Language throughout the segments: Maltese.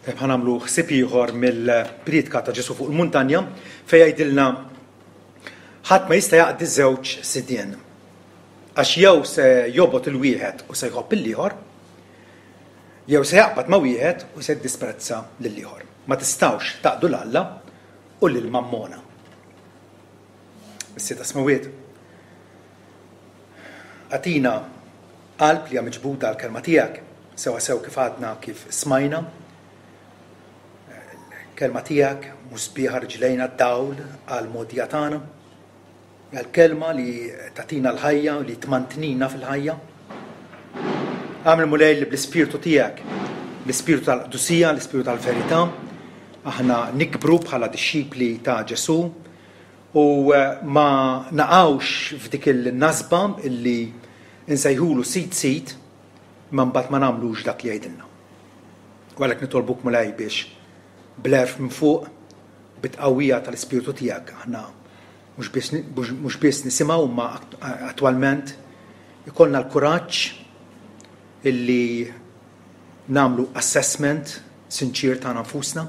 Tajjeb ħa nagħmlu ħsieb ieħor mill-priedka ta' Ġesù fuq il-muntanja fejn jgħidilna ħadd ma jista' jaqdi żewġ sidien. Għax jew se jobgħod il-wieħed u se jħobb il-ieħor, jew se jaqbad ma' wieħed u se jiddisprezza lill-ieħor. Ma tistgħux taqdu 'l Alla u lil Mammona. Missier tas-Smewwiet, agħtina qalb li hija miġbuda għall-Kelma tiegħek, sewwasew kif għadna kif smajna. Kelma tiegħek mhux sbieħa riġlejna dawl għall-mogħdija tagħna. Hija l-kelma li tagħtina l-ħajja u li tmantnina fil-ħajja. Agħmel Mulej li bl-ispirtu tiegħek, l-ispirtu tal-qdusija, l-ispirtu tal-verità, aħna nikbru bħala dixxipli ta' Ġesù u ma naqgħux f'dik il-nasba illi nsejħulu sid sid imma mbagħad ma nagħmlux dak li jgħidilna. U għalhekk nitolbuk Mulej biex bl-għerf minn fuq, bit-tqawwija tal-Ispirtu tiegħek aħna mhux biss mhux biss nisimgħu imma attwalment ikollna l-kuraġġ illi nagħmlu assessment sinċier tagħna nfusna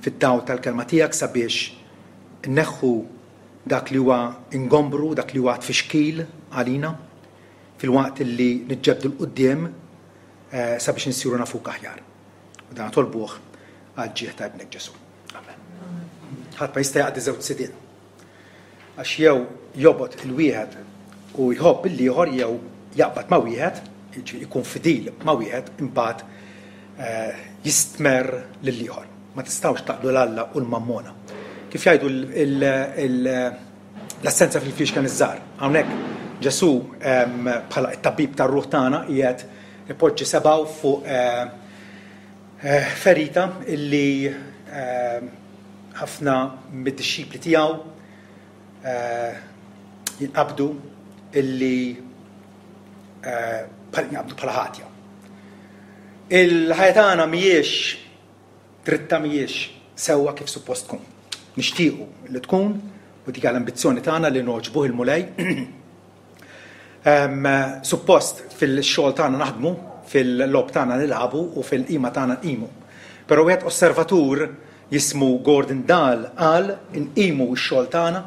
fid-dawl tal-Kelma tiegħek sabiex inneħħu dak li huwa ingombru, dak li huwa tfixkil għalina, filwaqt li niġġebbdu 'l quddiem sabiex insiru nafuk aħjar. U dan nitolbuh għall-ġieħ ta' Ibnek Ġesù. Amen. Ħadd ma jista' jaqdi żewġ sidien. Għax jew jobgħod il-wieħed u jħobb il-ieħor jew jaqbad ma' wieħed, jiġifieri jkun fidil ma' wieħed, imbagħad eh, jistmerr lill-ieħor. Ma tistgħux taqdu 'l Alla u l-mammona. Kif jgħidu l-assenza fil-fliexken iż-żgħar. Hawnhekk Ġesù bħala t-tabib tar-ruħ tagħna qiegħed ipoġġi sebgħu fuq eh, eh, ferita illi ħafna mid-dixxipli tiegħu jinqabdu illi jinqabdu bħala ħatja. Il-ħajja tagħna mhijiex dritta mhijiex sewwa kif suppost tkun. Nixtiequ li tkun u dik l-ambizzjoni tagħna li nogħġbuh il-Mulej. Suppost fil-xogħol tagħna naħdmu, fil-logħob tagħna nilagħbu u fil-qima tagħna nqimu. Però wieħed osservatur jismu Gordon Dahl qal inqimu x-xogħol tagħna,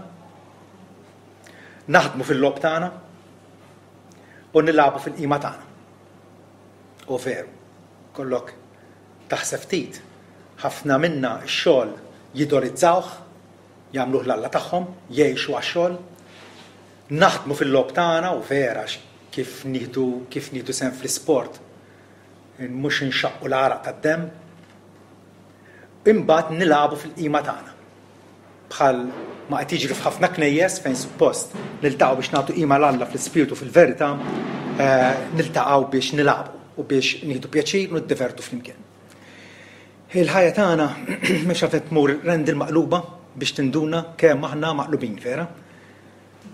naħdmu fil-logħob tagħna u nilagħbu fil-qima tagħna. U veru, kollok taħseb ftit, ħafna minna x-xogħol jidolizzawh, jagħmluh l-alla tagħhom, jgħixu għax-xogħol. Naħdmu fil-logħob tagħna u vera għax kif nieħdu kif nieħdu sehem fl-isport mhux inxaqqu l-għaraq tad-demm. Imbagħad nilagħbu fil-qima tagħna. Bħal ma qed jiġri f'ħafna knejjes fejn suppost niltaqgħu biex nagħtu qima 'l Alla fl-ispirtu fil-verità, niltaqgħu biex nilagħbu u biex nieħdu pjaċir u niddevertu flimkien. Il-ħajja tagħna mhux għalfejn tmur rendil maqluba biex tinduna kemm aħna maqlubin, vera?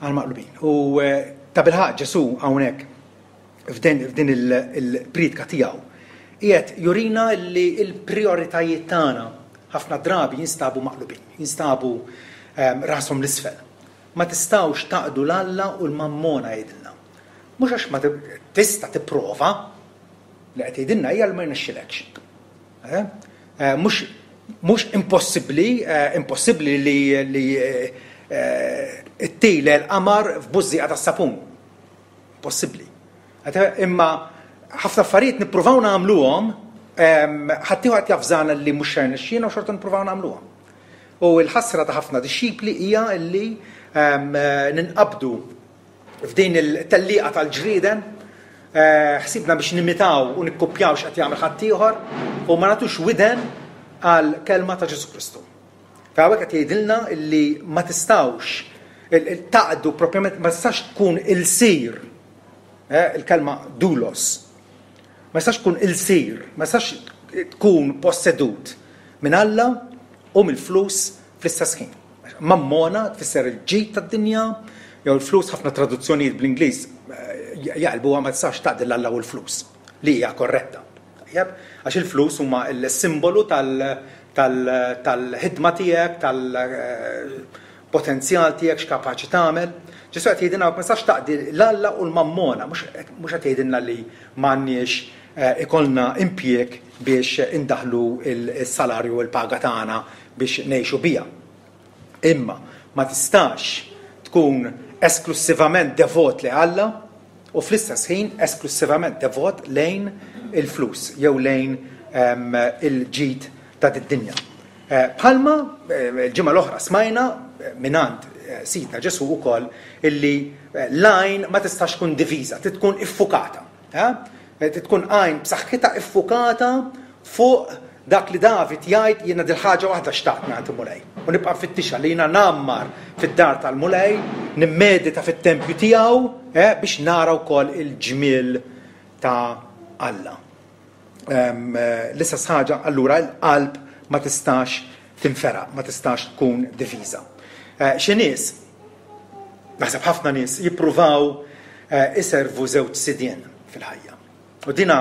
Aħna maqlubin. U eh, ta' bilħaq Ġesù hawnhekk f'din il-priedka tiegħu qiegħed jurina li l-prijoritajiet tagħna ħafna drabi jinstabu maqlubin, jinstabu ehm, rashom l-isfel. Ma tistgħux taqdu l-Alla u l-mammona jgħidilna. Mhux għax ma tista' tipprova, li qed jgħidilna hija li ma jirnexxilekx. Eh? Eh, mhux mhux impossibbli, eh, impossibbli li li ttile l-qamar f'bużżieqa tas-sapun. Possibbli. Imma ħafna affarijiet nippruvaw nagħmluhom, ħaddieħor qed jafżana li mhux se jirnexxielna u xorta nippruvaw nagħmluhom. U l-ħasra ta' ħafna dixxipli hija li ninqabdu F'din il-tellieqa tal-ġrieden, ħsibna biex nimitaw u nikkupjaw x'qed jagħmel ħaddieħor u ma nagħtux widen għall-kelma ta' Ġesù Kristu. F'hawnhekk qed jgħidilna li ma tistgħux taqdu propjament ma tistax tkun ilsir eh, il-kelma dulos. Ma tistax tkun ilsir, ma tistax tkun possedut minn Alla u mill-flus fl-istess ħin. Mammona tfisser il-ġid tad-dinja jew il-flus ħafna traduzzjonijiet bl-Ingliż jaqilbuha ma tistax taqdi 'l Alla u l-flus, li hija korretta. Tajjeb? Għax il-flus huma l-simbolu tal-ħidma tiegħek, tal potenzjal tiegħek x'kapaċi tagħmel. Ġesù qed jgħidilna ma tistax taqdi l-Alla u l-mammona, mhux qed jgħidilna li m'għandniex eh, ikollna impjieg biex indaħlu il-salarju u l-paga tagħna biex ngħixu biha. Imma ma tistax tkun esklussivament devot li Alla u fl-istess ħin esklussivament devot lejn il-flus jew lejn ehm, il-ġid ta' did-dinja. Bħalma l-ġimgħa l-oħra smajna mingħand Sidna Ġesù wkoll illi l-għajn ma tistax tkun diviża, trid tkun iffukata. Trid tkun għajn b'saħħitha iffukata fuq dak li David jgħid jiena dil-ħaġa waħda xtaqt mingħand il-Mulej. U nibqa' nfittixha li jiena ngħammar fid-dar tal-Mulej, nimmedita fit-tempju tiegħu biex nara wkoll il-ġmiel ta' Alla. L-istess ħaġa allura l-qalb ma tistax tinferaq, ma tistax tkun diviża. Eh, xi nies, naħseb ħafna nies jippruvaw eh, iservu żewġ sidien fil-ħajja. U dina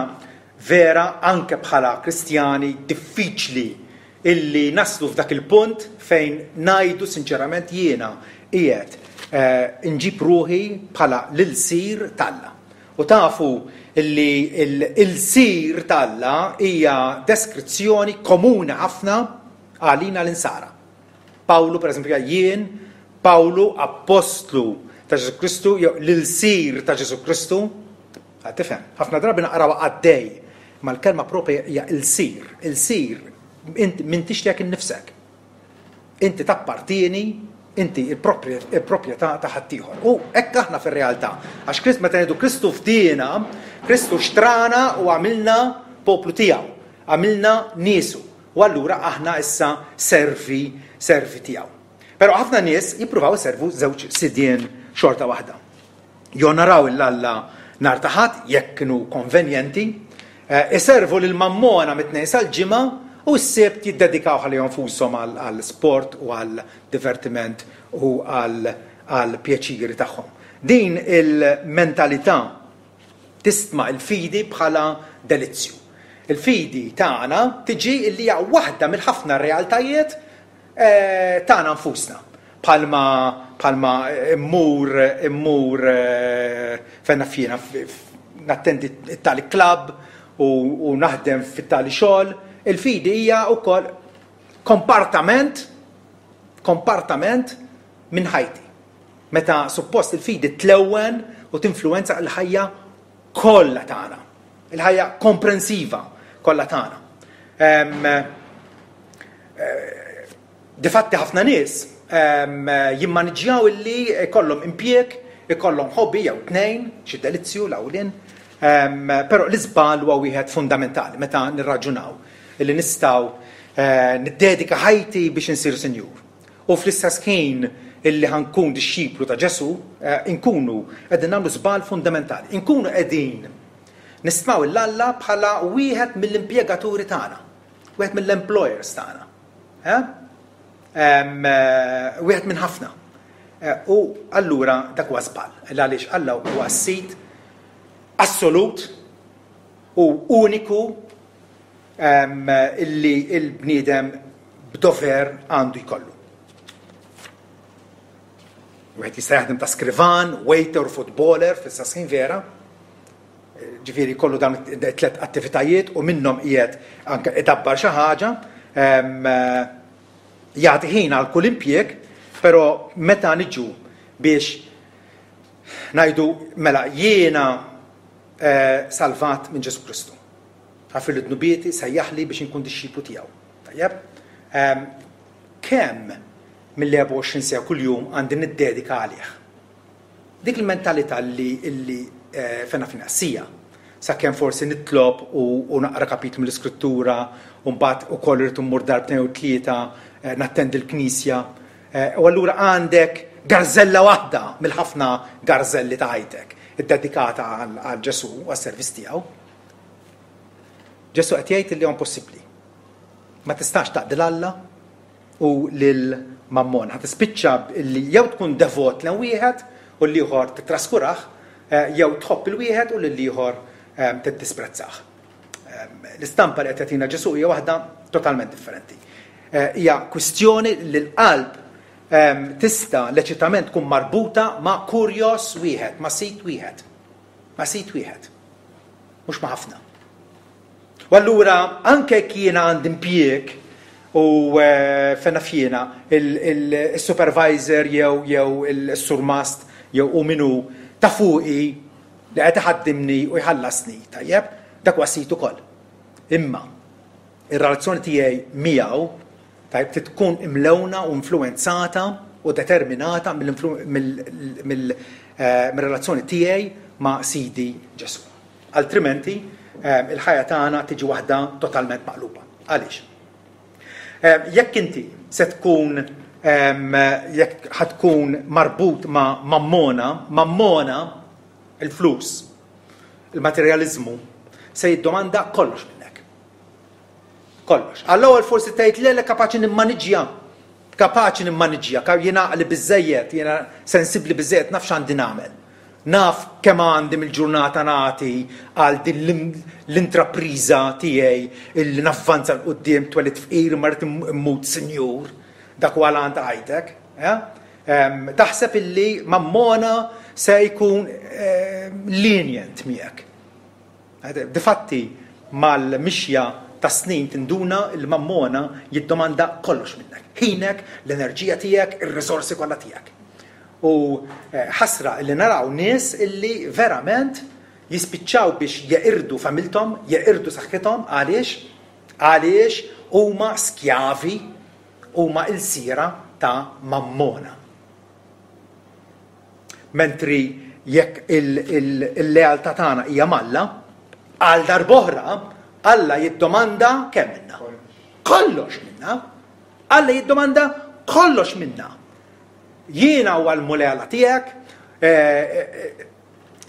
vera anke bħala Kristjani diffiċli illi naslu f'dak il-punt fejn ngħidu sinċerament jiena qiegħed eh, inġib ruħi bħala l-ilsir t'Alla. U tafu li l-ilsir t'Alla hija deskrizzjoni komuni ħafna għalina l-insara. Pawlu, per eżempju, jien, Pawlu, appostlu ta' Ġesù Kristu, jew l-ilsir ta' Ġesù Kristu, tifhem, ħafna drabi naqrawha qaddej, ma l-kelma propja hija ilsir, ilsir, int m'intix tiegħek innifsek. Inti tappartieni, inti il-proprjetà ta' ħaddieħor. U hekk aħna fir-realtà. Għax Krist meta ngħidu Kristu fdiena, Kristu xtrana u għamilna poplu tiegħu, għamilna niesu. U allura aħna issa servi servi tiegħu. Però ħafna nies jippruvaw iservu żewġ sidien xorta waħda. Jonoraw 'l Alla nhar ta' Ħadd jekk kienu konvenjenti, iservu lil Mammona mit-Tnejn sal-Ġimgħa u s-Sibt jiddedikaw ħalihom nfushom għal sport u għal divertiment u għal pjaċiri tagħhom. Din il-mentalità tistma' l-fidi bħala delizzju. Il-fidi tagħna tiġi li hija waħda mill-ħafna realtajiet tagħna nfusna. Bħalma bħalma immur immur fejn naf jiena nattendi t-tali club u naħdem fit-tali xogħol, il-fidi hija wkoll kompartament kompartament minn ħajti. Meta suppost il-fidi tlewwen u tinfluwenza l-ħajja kollha tagħna. Il-ħajja komprensiva kollha tagħna. Difatti ħafna nies jimmaniġġjaw illi jkollhom impjieg, ikollhom hobby jew tnejn, xi delizzju l-għawlien, però l-iżball huwa wieħed fundamentali meta nirraġunaw illi nistgħu eh, niddedika ħajti biex insir sinjur. U fl-istess ħin illi ħankun dixxiplu ta' Ġesu, eh, inkunu qegħdin nagħmlu żball fundamentali. Inkunu qegħdin nistmaw il-Alla bħala wieħed mill-impjegaturi tagħna. Wieħed mill-employers tagħna. Eh? Eh, wieħed minn ħafna. Eh, u allura dak huwa żball. Għaliex Alla huwa s-sid assolut u uniku illi il-bniedem b'dover għandu jkollu. Wieħed jista' jaħdem ta' skrivan, waiter, footballer, fl-istess ħin vera, Ġifieri jkollu dawn it-tlet attivitajiet u minnhom qiegħed anke idabbar xi ħaġa, jagħti ħin għal kull impjieg, però meta niġu biex ngħidu mela jiena eh, salvat minn Ġesu Kristu. Għafir l-dnubieti sejjaħli biex inkun dixxiplu tiegħu. Tajjeb? Kemm mill-24 sija kuljum għandi niddedika għalih? Dik il-mentalità li li fejn naf sija, sakemm forsi nitlob u naqra kapitlu mill-Iskrittura u mbagħad ukoll irid immur darbtejn jew tlieta nattendi l-knisja. U allura għandek garzella waħda mill-ħafna garzelli ta' ħajtek iddedikata għal Ġesù u għas-servizz tiegħu. Ġesù qed jgħid li huwa impossibbli. Ma tistax taqdi 'l Alla u lil Mammon. Ħa tispiċċa li jew tkun devot lejn wieħed u l-ieħor tittraskurah, jew tħobb il-wieħed u lill-ieħor tiddisprezzah. L-istampa li qed jagħtina Ġesù hija waħda totalment differenti. Hija kwistjoni li l-qalb tista' leċitament tkun marbuta ma' kurjos wieħed, ma' sid wieħed. Ma' sid wieħed. Mhux ma' ħafna. U allura anke jekk jiena għandi impjieg u eh, fena fjena il-supervisor jew jew il-surmast jew u minu ta' fuqi li qed iħaddimni u jħallasni, tajjeb, dak huwa sid ukoll. Imma ir-relazzjoni tiegħi miegħu tajjeb trid tkun imlewna u influwenzata u determinata mill-relazzjoni tiegħi ma' Sidi Ġesù. Altrimenti, il-ħajja tagħna tiġi waħda totalment maqluba. Għaliex? Jekk inti se tkun jekk ħa tkun marbut ma' mammona, mammona il-flus, il-materjaliżmu, se jiddomanda kollox minnek. Kollox. Għall-ewwel forsi tgħid le le kapaċi nimmaniġġja. Kapaċi nimmaniġġja, jiena għaqli biżejjed, jiena sensibbli biżejjed naf x'għandi nagħmel. Naf kemm għandi mill-ġurnata nagħti għal din l-intrapriża tiegħi illi navvanza 'l quddiem twelidt fqir imma rrid immut sinjur. Dak huwa l-għan ta' ħajtek. Taħseb illi mammona se jkun lenient miegħek. Difatti mal-mixja tas-snin tinduna li mammona jiddomanda kollox minnek. Ħinek, l-enerġija tiegħek, ir-riżorsi kollha tiegħek. U ħasra li naraw nies illi verament jispiċċaw biex jeqirdu familthom, jeqirdu saħħithom għaliex? Għaliex huma skjavi, huma ilsiera ta' mammona. Mentri jekk il-lealtà tagħna hija m'Alla, għal darb'oħra Alla jiddomanda kemm minna? Kollox minna. Alla jiddomanda kollox minna. Jiena huwa l-Mulej Alla tiegħek, eh, eh,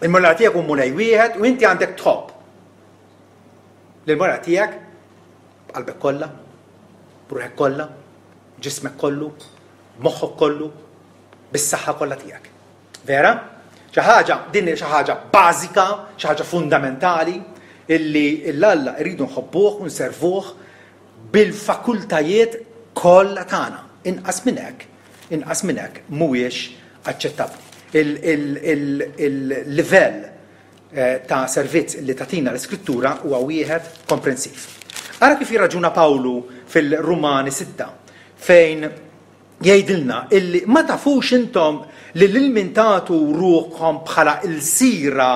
il-Mulej Alla tiegħek hu Mulej wieħed u inti għandek tħobb. Lill-Mulej tiegħek b'qalbek kollha, b'ruħek kollha, ġismek kollu, b'moħħok kollu, bis-saħħa kollha tiegħek. Vera? Xi ħaġa, din xi ħaġa bażika, xi ħaġa fundamentali illi l-Alla rridu nħobbuh u nservuh bil-fakultajiet kollha tagħna. Inqas minn hekk, inqas minn hekk mhuwiex aċċettabbli. Il-livell eh, ta' servizz li tagħtina l-Iskrittura huwa wieħed komprensiv. Ara kif jirraġuna Pawlu fil-Rumani 6 fejn jgħidilna illi ma tafux intom li lil min tagħtu ruħkom bħala ilsira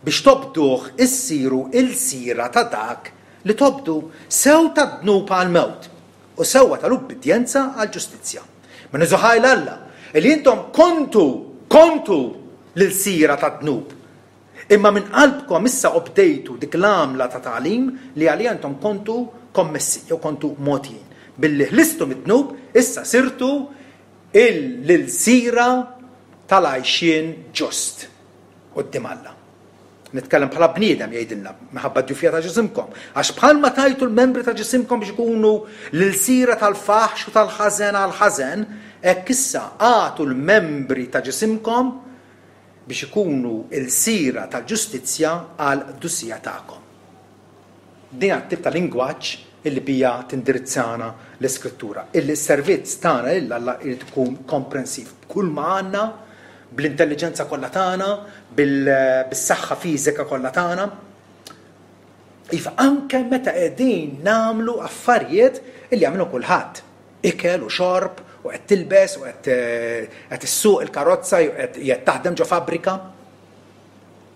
biex tobduh issiru ilsira ta' dak li tobdu, sew tad-dnub għall-mewt u sewwa tal-ubbidjenza għall-ġustizzja. Ma niżu ħaj 'l Alla, illi intom kontu, kontu l-ilsira tad-dnub, Imma minn qalbkom issa obdejtu dik l-għamla ta' tagħlim li għaliha intom kontu kommessi, jew kontu mogħtijin. Billi ħlistu mid-dnub, issa sirtu l-ilsira tal-għajxien ġust quddiem Alla. Nitkellem bħala bniedem, jgħidilna, minħabba d-djufija ta' ġisimkom. Għax bħalma tajtu l-membri ta' ġisimkom biex ikunu l-ilsira tal-faħx u tal-ħażen għall-ħażen, hekk issa agħtu l-membri ta' ġisimkom biex ikunu lsira tal-ġustizzja għall-qdusija tagħkom. Din hija t-tip ta' lingwaġġ illi biha tindirizzana l-Iskrittura, illi s-servizz tagħna lil Alla jrid ikun komprensiv b'kull ma għandna, bl-intelliġenza kollha tagħna, bis-saħħa fiżika kollha tagħna. Iva, anke meta qegħdin nagħmlu affarijiet illi jagħmlu kulħadd. Ikel u xorb u qed tilbes u qed qed issuq il-karozza jew qed qed taħdem ġo fabbrika.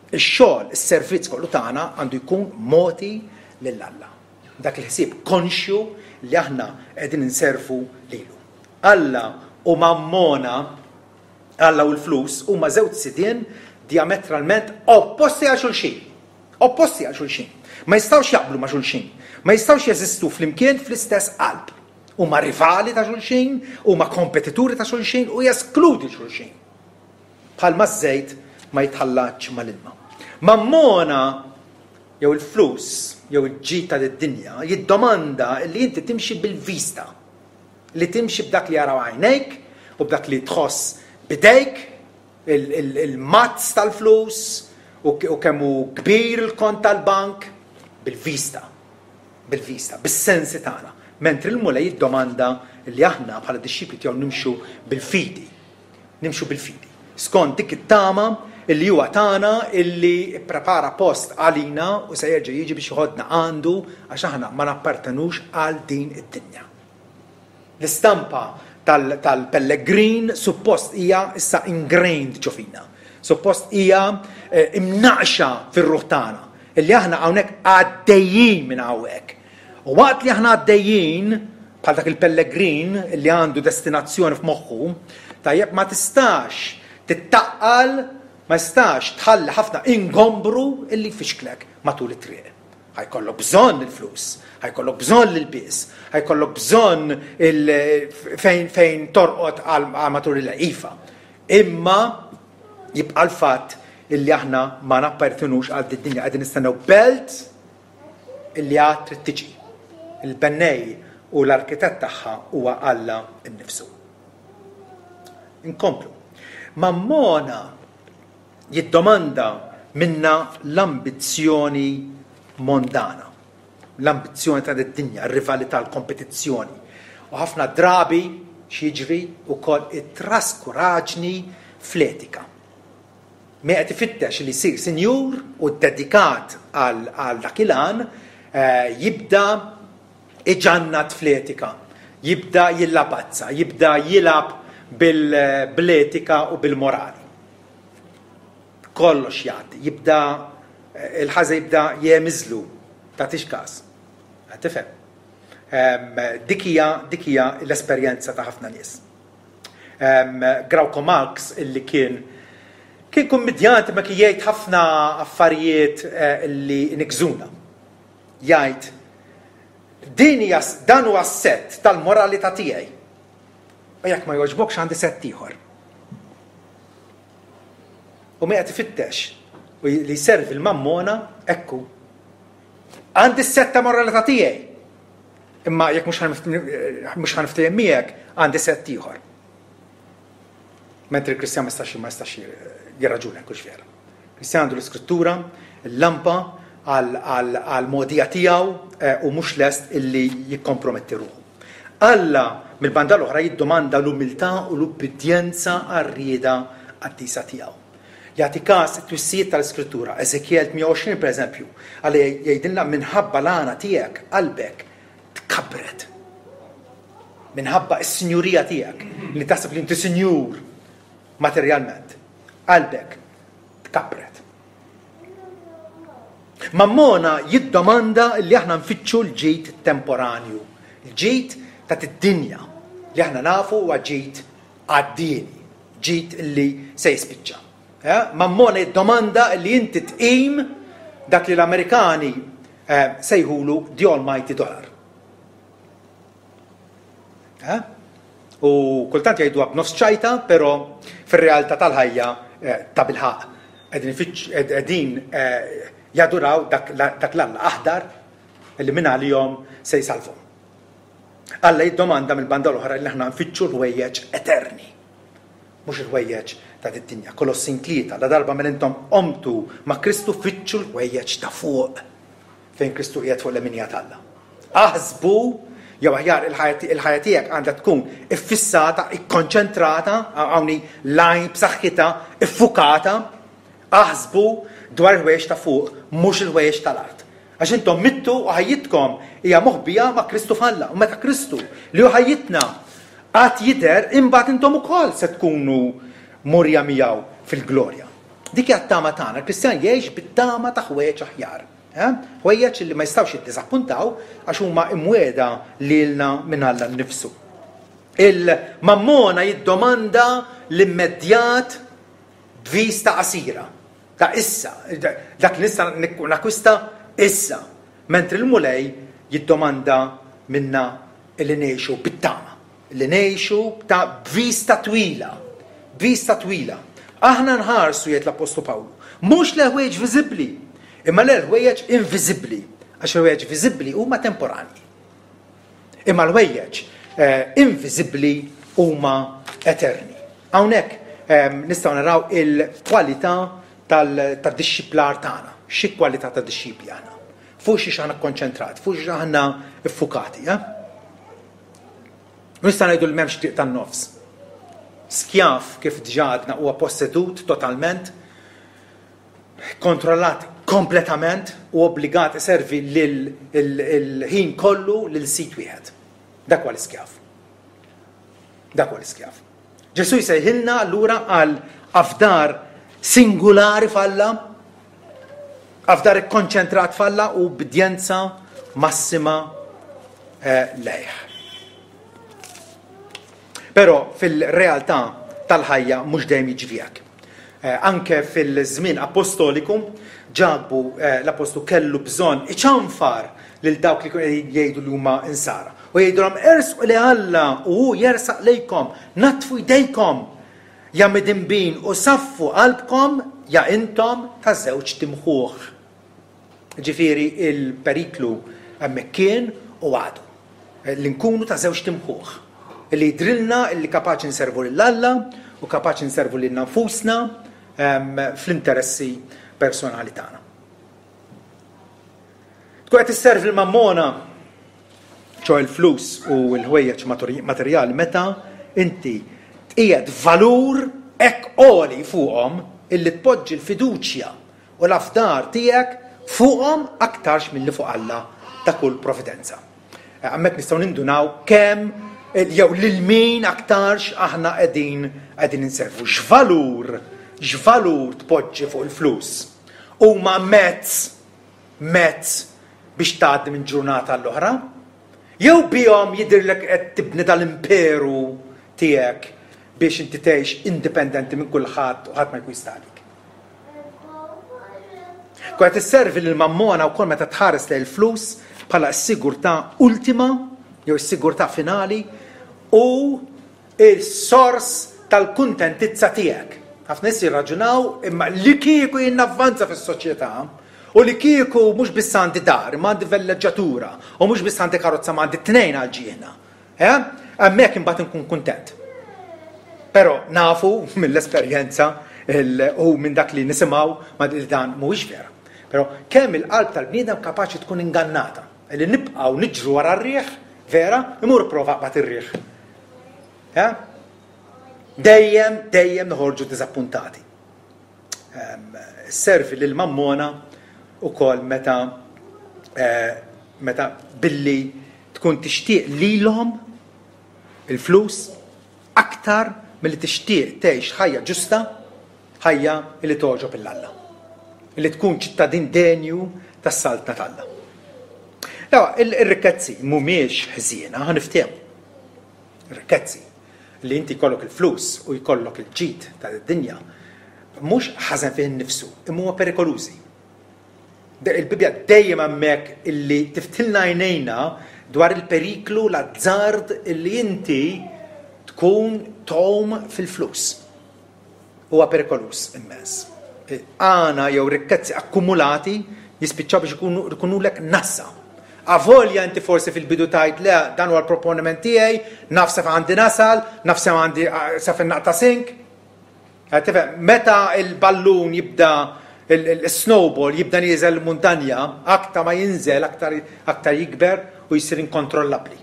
Ix-xogħol, is-servizz kollu tagħna għandu jkun mogħti lil Alla. Dak il-ħsieb konxju li aħna qegħdin inservu lilu. Alla u mammona, Alla u l-flus huma żewġ sidien diametralment opposti għal xulxin. Opposti għal xulxin. Ma jistgħux jaqblu ma' xulxin. Ma jistgħux jeżistu flimkien fl-istess qalb. Huma rivali ta' xulxin, huma kompetituri ta' xulxin u jeskludi xulxin. Bħalma ż-żejt ma jitħallatx mal-ilma. Mammona jew il-flus jew il-ġid ta' dinja jiddomanda li inti timxi bil-vista. Li timxi b'dak li jaraw għajnejk u b'dak li tħoss b'idejk, il-mazz tal-flus u kemm hu kbir il-kont tal-bank bil-vista. Bil-vista, bis-sensi tagħna. Mentri l-Mulej jiddomanda li aħna bħala dixxipli tiegħu nimxu bil-fidi. Nimxu bil-fidi. Skont dik it-tama illi huwa tana illi pprepara post għalina u se jerġa' jiġi biex joħodna għandu għax aħna ma nappartenux għal din id-dinja. L-istampa tal-pellegrin suppost hija issa ingrained ġo fina. Suppost hija eh, imnaqxa fir-ruħ tagħna illi aħna hawnhekk għaddejjin minn hawnhekk. U waqt li aħna għaddejjin bħal dak il-pellegrin li għandu destinazzjoni f'moħħu, tajjeb ma tistax tittaqqal, ma tistax tħalli ħafna ingombru illi jfixklek matul it-triq. Ħa jkollok bżonn il-flus, ħa jkollok bżonn l-ilbies, ħa jkollok bżonn fejn fejn torqod għal matul il-ifa. Imma jibqa' l-fatt illi aħna ma nappartenux għal din dinja qegħdin nistennew belt illi għad trid tiġi. Il-bennej u l-arkitett tagħha huwa Alla nnifsu. Inkomplu. Mammona jiddomanda minna l-ambizzjoni mondana, l-ambizzjoni ta' dinja, r-rivalità, l-kompetizzjoni. U ħafna drabi x'jiġri wkoll it-traskuraġni fl-etika. Min qed ifittex li jsir sinjur u dedikat għal dak il-għan eh, jibda iġannat fl-etika, jibda jillabazza, jibda jilgħab bil-etika u bil-morali. Kollox jgħaddi, jibda eh, il-ħaża jibda jemiżlu, tagħtix każ. Tifhem. Dik hija dik hija l-esperjenza ta' ħafna nies. Grauco Marx illi kien kien kummidjant ma kien jgħid ħafna affarijiet eh, li nikżuna. Jgħid din hija dan huwa s-sett tal-moralità tiegħi. U jekk ma jogħġbokx għandi sett ieħor. U mi qed ifittex u li jservi l-mammona ekku. Għandi s-sett ta' moralità tiegħi. Imma jekk mhux ħaniftehim miegħek għandi sett ieħor. Mentri l-Kristjan ma jistax ma jistax jirraġuna hekk vera. Kristjan għandu l-iskrittura, l-lampa għal-mogħdija tiegħu eh, u mhux lest illi jikkomprometti ruħu. Alla mill-banda l-oħra jiddomanda l-umiltà u l-ubbidjenza għar-rieda qaddisa tiegħu. Jagħti każ it-twissijiet tal-Iskrittura. Eżekjel 28 pereżempju, Alla jgħidilna minħabba l-għana tiegħek qalbek tkabbret. Minħabba s-sinjurija tiegħek li taħseb li inti sinjur materjalment, qalbek tkabbret. Mammona jiddomanda li aħna nfittxu l-ġid temporanju, l-ġid ta' dinja li aħna nafu huwa ġid għaddieni, ġid li se jispiċċa. Eh? Mammona jiddomanda li inti tqim dak li l-Amerikani eh, sejħulu the almighty dollar. Eh? U kultant jgħiduha b'nofs ċajta, però fir-realtà tal-ħajja eh, ta' bilħaq qegħdin eh, jaduraw dak l-alla aħdar li minn għalihom se jsalvhom. Alla jiddomanda mill-banda l-oħra li aħna nfittxu l-ħwejjeġ eterni, mhux il-ħwejjeġ ta' din-dinja. Kolossin 3, la darba mela intom qomtu ma' Kristu fittxu l-ħwejjeġ ta' fuq, fejn Kristu qiegħed fuq l-leminija t'Alla. Aħsbu, jew aħjar il-ħajja tiegħek għandha tkun iffissata, ikkonċentrata, hawn hi l-għajn b'saħħitha, iffukata, aħsbu dwar il-ħwejjeġ ta' fuq, mhux il-ħwejjeġ tal-art. Għax intom mittu u ħajjitkom hija moħbija ma' Kristu f'Alla. U meta Kristu, li hu ħajjitna, għad jidher, imbagħad intom ukoll se tkunu murja miegħu fil-glorja. Dik hija t-tama tagħna. Il-Kristjan jgħix bit-tama ta' ħwejjeġ aħjar. Eh? Ħwejjeġ li ma jistgħux jiddiżappuntaw għax huma imwiegħda lilna minn Alla nnifsu. Il-mammona jiddomanda l-immedjat b'vista qasira. Ta' issa, dak li nista' nakwista issa, mentri l-Mulej jiddomanda minna li ngħixu bit-tama, li ngħixu ta' b'vista twila, b'vista twila. Aħna nħarsu jgħid l-Appostlu Pawlu, mhux lejn ħwejjeġ viżibbli, imma lejn ħwejjeġ inviżibbli, għax il-ħwejjeġ viżibbli huma temporanji. Imma l-ħwejjeġ inviżibbli huma eterni. Hawnhekk nistgħu naraw il-kwalità tad-dixxiplar tagħna. Xi kwalità ta' dixxipli aħna? Fuq xiex aħna kkonċentrati, fuq xiex aħna ffukati. Eh? U nista' ngħidu li m'hemmx triq tan-nofs. Skjav, kif diġà għadna, huwa possedut totalment, kontrollat kompletament u obbligat iservi lil il-ħin kollu lil sid wieħed. Dak huwa l-iskjav. Dak huwa l-iskjav. Ġesù jsejħilna allura għal afdar singulari f'Alla, afdar ikkonċentrat f'Alla u ubbidjenza massima eh, lejh. Però fil-realtà tal-ħajja mhux dejjem jiġri hekk. Eh, anke fil-żmien apostoliku, Ġakbu eh, l-apostlu kellu bżonn iċanfar lil dawk li jgħidu li huma insara. U jgħidulhom ersqu li Alla u hu jersaq lejkom, natfu jdejkom ja midinbin u saffu qalbkom ja intom ta' żewġt imħuħ. Ġifieri il-periklu hemmhekk kien u għadu. Li nkunu ta' żewġt imħuħ. Li jidhrilna li kapaċi nservu lil Alla u kapaċi nservu lilna nfusna ehm, fl-interessi personali tagħna. Tkun qed isservi l-mammona, ċo il-flus u l-ħwejjeġ materjali meta inti tqiegħed valur hekk għoli fuqhom illi tpoġġi l-fiduċja u l-afdar tiegħek fuqhom aktarx milli fuq Alla ta' kull providenza. Eh, hemmhekk nistgħu nindunaw kemm eh, jew lil min aktarx aħna qegħdin qegħdin inservu. X'valur, x'valur tpoġġi fuq il-flus? Huma mezz mezz biex tgħaddi minn ġurnata għall-oħra? Jew bihom jidhirlek qed tibni dal-imperu tiegħek biex inti tgħix indipendenti minn kulħadd u ħadd ma jkun jista' għalik? Tkun qed isservi lil Mammona wkoll meta tħares lejn il-flus bħala s-sigurtà ultima jew is-sigurtà finali u s-sors tal-kuntentizza tiegħek. Ħafna nies jirraġunaw imma li kieku jien navvanza fis-soċjetà u li kieku mhux biss għandi dar imma għandi velleġġatura u mhux biss għandi karozza ma għandi tnejn għal ġieħna. Eh? Hemmhekk imbagħad inkun kuntent. Però nafu mill-esperjenza u minn dak li nisimgħu ma li dan mhuwiex vera. Però kemm il-qalb tal-bniedem kapaċi tkun ingannata li nibqgħu niġru wara r-riħ, vera, imur prova qbad ir-riħ. Eh? Dejjem, dejjem noħorġu diżappuntati. Ehm, servi lil mammona ukoll meta eh, meta billi tkun tixtieq lilhom il-flus aktar milli tixtieq tgħix ħajja ġusta, ħajja li togħġob 'il Alla. Li tkun ċittadin denju tas-Saltna t'Alla. Ir-rikkezzi mhumiex ħżiena, ħa niftehmu. Ir-rikkezzi li inti jkollok il-flus u jkollok il-ġid ta' dinja mhux ħażen fih innifsu, imma huma perikolużi. Il-Bibbja dejjem hemmhekk illi tiftilna għajnejna dwar il-periklu, l-azzard illi inti tkun tgħum fil-flus. Huwa perikoluż immens. Għana jew rikkezzi akkumulati jispiċċaw biex ikunu ikunulek nassa. Avolja inti forsi fil-bidu tgħid le dan huwa l-proponiment tiegħi, naf sa għandi nasal, naf sa għandi sa fejn naqta' sink. Qed tifhem, meta l-ballun jibda il-snowball jibda nieżel l-muntanja, aktar ma jinżel aktar aktar jikber u jsir inkontrollabbli.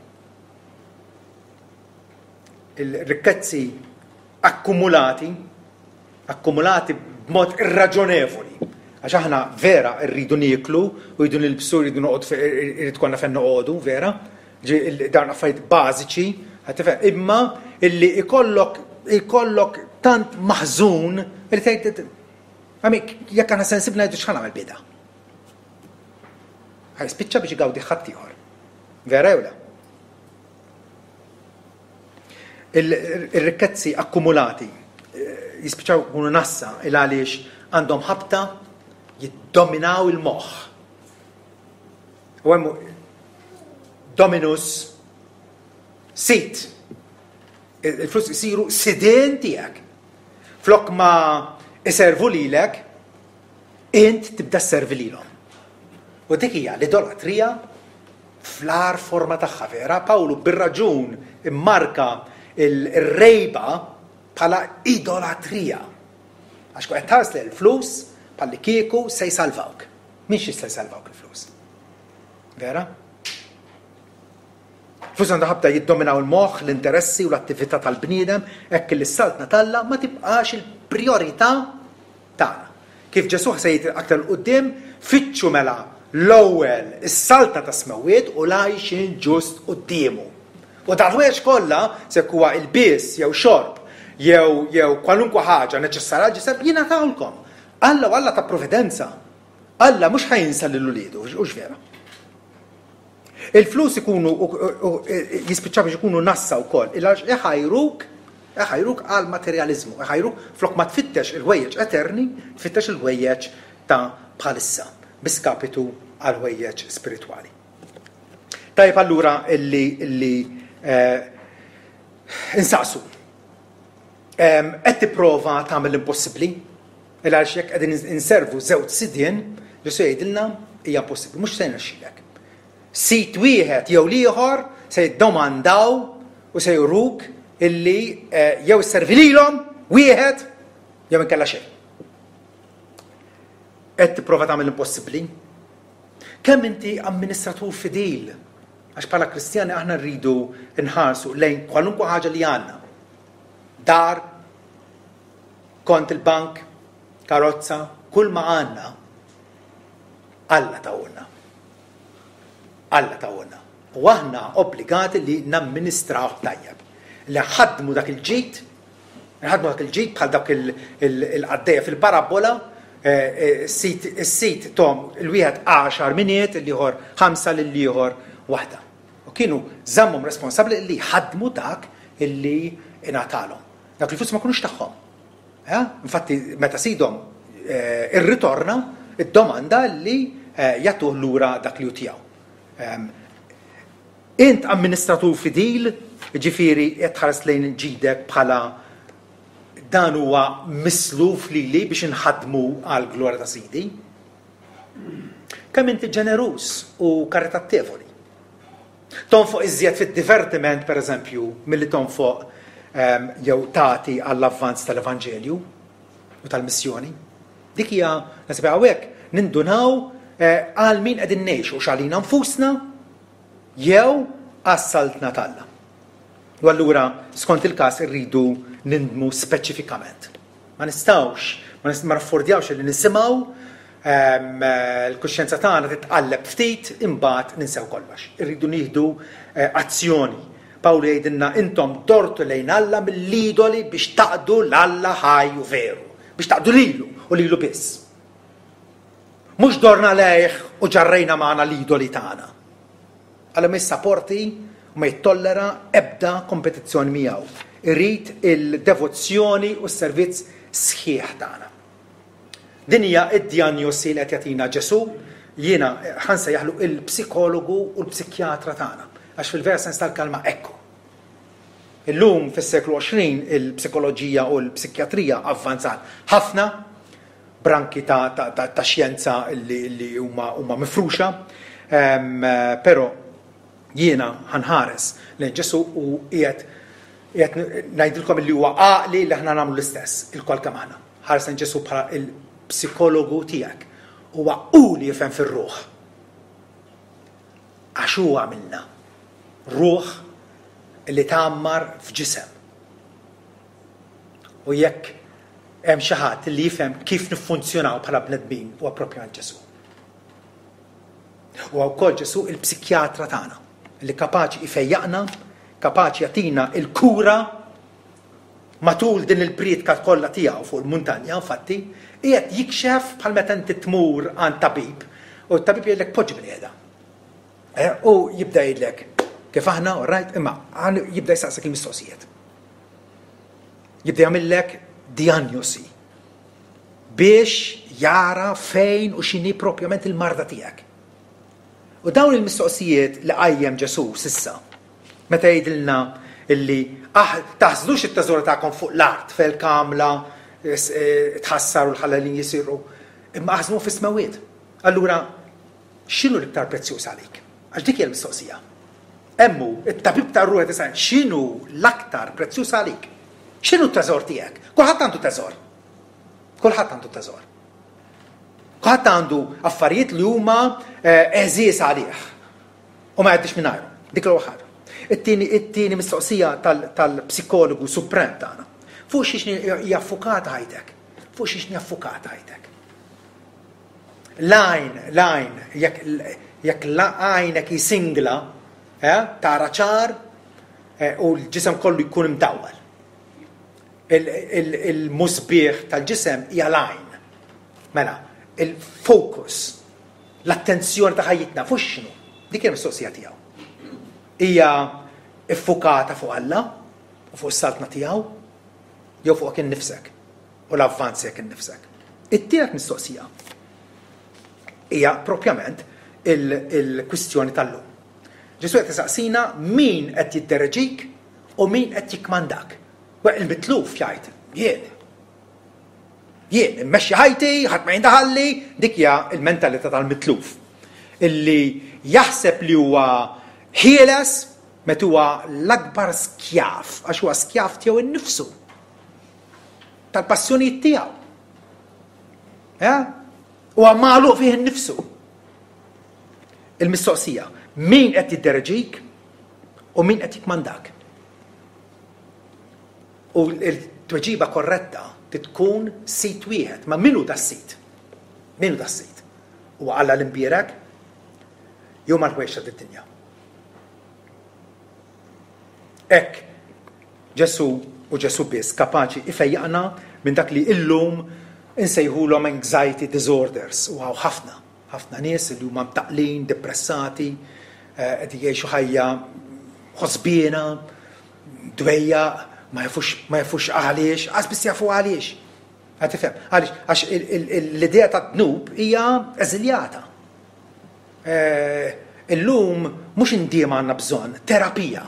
Il-rikkezzi akkumulati, akkumulati b'mod irraġonevoli, għax aħna vera rridu nieklu u rridu nilbsu, rridu noqgħod irid konna fejn noqogħdu, vera, Dawn affarijiet bażiċi, imma illi ikollok ikollok tant maħżun li tgħid għamik jekk aħna sensibbli ngħidu x'ħa nagħmel bida. Ħaj spiċċa biex igawdi ħaddieħor. Vera jew le? Il-rikkezzi akkumulati eh, jispiċċaw ikunu nassa il għaliex għandhom ħabta jiddominaw il-moħħ. U hemm dominus sit. Il-flus isiru sidien tiegħek. Flok ma iservu lilek, int tibda sservi lilhom. U dik hija l-idolatrija fl-agħar forma tagħha vera. Pawlu bir-raġun immarka il-rejba bħala idolatrija. Għax qed tħares lejn il-flus bħalli kieku se jsalvawk. Mhix jista' jsalvawk il-flus. Vera? Flus għandha ħabta jiddominaw il-moħħ, l-interessi u l-attività tal-bniedem, hekk li s-saltna t'Alla ma tibqax il-prijorità tagħna. Kif Ġesù se jgħid aktar 'il quddiem, Fittxu mela l-ewwel is-saltna tas-smewwiet u l-għajxien ġust quddiemu. U dal-ħwejjeġ kollha, se jekk huwa ilbies jew xorb jew jew kwalunkwe ħaġa neċessarja għall-ġisem, jingħatawlkom. Alla hu Alla ta' providenza. Alla mhux ħa jinsa lil uliedu, hux vera? Il-flus ikunu jispiċċaw biex ikunu nassa wkoll, il-għax iħajruk iħajruk għal materjaliżmu, iħajruk flok ma tfittex il-ħwejjeġ eterni, tfittex il-ħwejjeġ ta' bħalissa, bi skapitu għal ħwejjeġ spiritwali. Tajjeb allura illi illi eh, insaqsu. Qed tipprova tagħmel l-impossibbli? Il għaliex jekk qegħdin inservu żewġ sidien, Ġesù jgħidilna hija impossibbli, mhux se jirnexxilek. Sid wieħed jew l-ieħor se jiddomandaw u se juruk illi eh, jew isservi lilhom wieħed jew inkella xejn. Qed tipprova tagħmel l-impossibbli? Kemm inti amministratur fidil? Għax bħala Kristjani aħna rridu nħarsu lejn kwalunkwe ħaġa li għandna. Dar, kont il-bank, karozza, kull ma għandna, Alla tawulna. Alla tawulna. U aħna obbligati li namministrawh tajjeb. Li ħadmu dak il-ġid, ħadmu dak il-ġid bħal dak il-qaddejja fil-parabbola, eh, eh, is-sit tom il-wieħed għaxar miniet, il-ieħor ħamsa lill-ieħor waħda. U kienu żammhom responsabbli li ħadmu dak illi ingħatalhom. Dawk il-flus ma kinux tagħhom. Eh? Infatti, meta sidhom eh, irritorna, id-domanda li eh, jagħtuh lura dak li hu tiegħu. Ehm, int amministratur fidil, ġifieri qed tħares lejn ġidek bħala dan huwa misluf lili biex inħadmu għal glorja ta' sidi. Kemm inti ġeneruż u karitattevoli. Tonfoq iżjed fid-divertiment, per eżempju, milli tonfoq ehm, jew tagħti għall-avvanz tal-Evanġelju u tal-missjoni. Dik hija nasib hawnhekk nindunaw eh, għal min qegħdin ngħixu x'għalina nfusna jew għas-saltna t'Alla. U allura skont il-każ irridu nindmu speċifikament. Ma nistgħux, ma naffordjawx li nisimgħu ehm, l-kuxjenza tagħna titqalleb ftit imbagħad ninsew kollox. Irridu nieħdu eh, azzjoni. Pawlu jgħidilna intom dortu lejn Alla mill-idoli biex taqdu l-Alla ħaj u veru, biex taqdu lilu u lilu biss. Mhux dorna lejh u ġarrejna magħna l-idoli tagħna. Alla ma jissaporti u ma jittollera ebda kompetizzjoni miegħu. Irid il-devozzjoni u s-servizz sħiħ tagħna. Din hija d-dijanjosi li qed jagħtina Ġesù, jiena ħa nsejjaħlu il-psikologu u l-psikjatra tagħna, għax fil-vera sens tal-kelma hekk hu. Illum fis-seklu 20 il-psikoloġija u l-psikjatrija avvanzat ħafna, branki ta', ta, ta, ta xjenza li, li huma, huma mifruxa, um, però jiena ħanħares lejn Ġesu u qiegħed qiegħed ngħidilkom li huwa għaqli li aħna nagħmlu l-istess il-kol kemm aħna. Ħares lejn Ġesu bħala il-psikologu tiegħek. Huwa hu li jifhem fir-ruħ. Għax hu għamilna ruħ li tgħammar f'ġisem. U jekk hemm xi ħadd li jifhem kif niffunzjonaw bħala bnedmin huwa propjament Ġesù. Huwa wkoll Ġesù il-psikjatra tagħna li kapaċi jfejjaqna, kapaċi jagħtina il-kura matul din il-prietka kollha tiegħu fuq il-muntanja, infatti, qiegħed jikxef bħal meta inti tmur għand tabib u t-tabib jgħidlek poġġi bil-qiegħda. Eh, u jibda jgħidlek kif aħna, all right, imma jibda jsaqsek il-mistoqsijiet. Jibda jagħmillek dijanjosi biex jara fejn u x'inhi propjament il-marda tiegħek. U dawn il-mistoqsijiet li qajjem Ġesù sissa, meta jgħidilna illi ah, taħżnux it-teżor tagħkom fuq l-art fejn il-kamla eh, tħassar u l-ħallalin jisiru, imma aħżnu fis-smewwiet. Allura, x'inhu l-iktar prezzjuż għalik? Għax dik hija l-mistoqsija. Hemm hu, it-tabib tar-ruħ qed isaqsi, x'inhu l-aktar prezzjuż għalik? X'inhu t-teżor tiegħek? Kulħadd għandu teżor. Kulħadd għandu teżor. Kulħadd għandu affarijiet li huma eh, għeżież għalih. U ma jgħaddix mingħajru. Dik l-ewwel ħaġa. It-tieni it-tieni mistoqsija tal-psikologu suprem tagħna. Fuq xiex hija ffukata ħajtek? Fuq xiex hija ffukata ħajtek? L-għajn, l-għajn, jekk għajnek hi singla, eh, tara ċar eh, u l-ġisem kollu jkun imdawwal. Il-musbieħ tal-ġisem hija l-għajn. Mela, il-focus, l-attenzjoni ta' ħajjitna fuq x'inhu? Dik hija l-mistoqsija tiegħu. Hija ffukata fuq Alla u fuq is-saltna tiegħu jew fuqek innifsek u l-avvanz tiegħek innifsek. It-tielet mistoqsija hija propjament il-kwistjoni tal-lum. Ġesù qed isaqsina min qed jiddereġik u min qed jikkmandak. Il-mitluf jgħid jien. Jien immexxi ħajti, ħadd ma jindaħalli, dik hija l-mentalità tal-mitluf. Illi jaħseb li huwa ħieles meta huwa l-akbar skjav, għax huwa skjav tiegħu innifsu. Tal-passjonijiet tiegħu. Eh? Huwa magħluq fih innifsu. Il-mistoqsija, min qed jiddereġik u min qed jikmandak? U l-tweġiba korretta trid tkun sit wieħed. Ma min hu das-sit? Min hu das-sit? Huwa Alla l-Imbierek? Jew mal-ħwejjeġ ta' did-dinja? Hekk Ġesù u Ġesù biss kapaċi ifejjaqna minn dak li illum insejħulhom anxiety disorders u hawn ħafna, ħafna nies li huma mtaqqlin, depressati, eh, qed jgħixu ħajja ħosbiena, dwejjaq, ma jafux ma jafux għaliex, qas biss jafu għaliex. Qed tifhem? Għaliex għax l-idea tad-dnub hija eżiljata. Eh, illum mhux indiema għandna bżonn, terapija.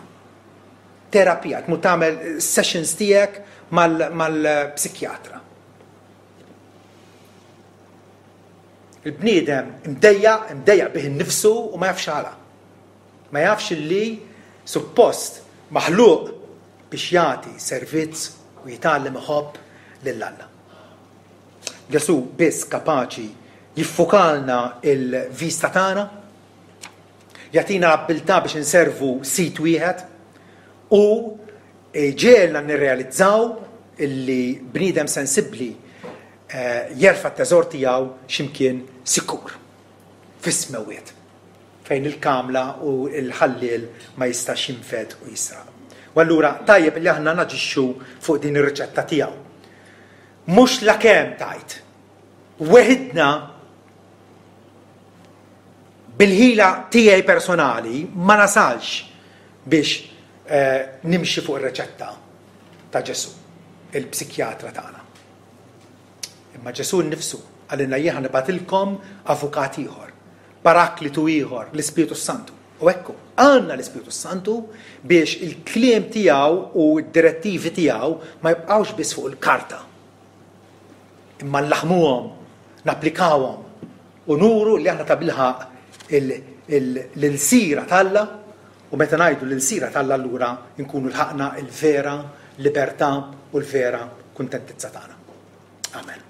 Terapija, tmur tagħmel sessions tiegħek mal-psikjatra. Il-bniedem imdejjaq, imdejjaq bih innifsu u ma jafx għala. Ma jafx li suppost maħluq biex jagħti servizz u jitgħallem iħobb lil Alla. Ġesù biss kapaċi jiffukalna il-vista tagħna, jagħtina l-abbiltà biex inservu sid wieħed u ġiegħelna nirrealizzaw illi bniedem sensibbli eh, jerfa' t-teżor tiegħu x'imkien sikur fis-smewwiet. Fejn il-kamla u l-ħalliel ma jistax jinfed u jisraq. U allura tajjeb li aħna naġixxu fuq din ir-riċetta tiegħu. Mhux lakemm tgħid. Weħidna bil-ħila tiegħi personali ma nasalx biex eh, nimxi fuq ir-riċetta ta' Ġesù, il-psikjatra tagħna. Imma Ġesù nnifsu qalilna jien ħa nibgħatilkom avukat ieħor, paraklitu ieħor, l-Ispirtu s-Santu. U hekk hu, għandna l-Ispirtu s-Santu biex il-kliem tiegħu u d-direttivi tiegħu ma jibqgħux biss fuq il-karta. Imma nlaħmuhom, napplikawhom u nuru li aħna tabilħaqq l-ilsira t'Alla u meta ngħidu l-ilsira t'Alla allura nkunu lħaqna l-vera libertà u l-vera kuntentizza tagħna. Amen.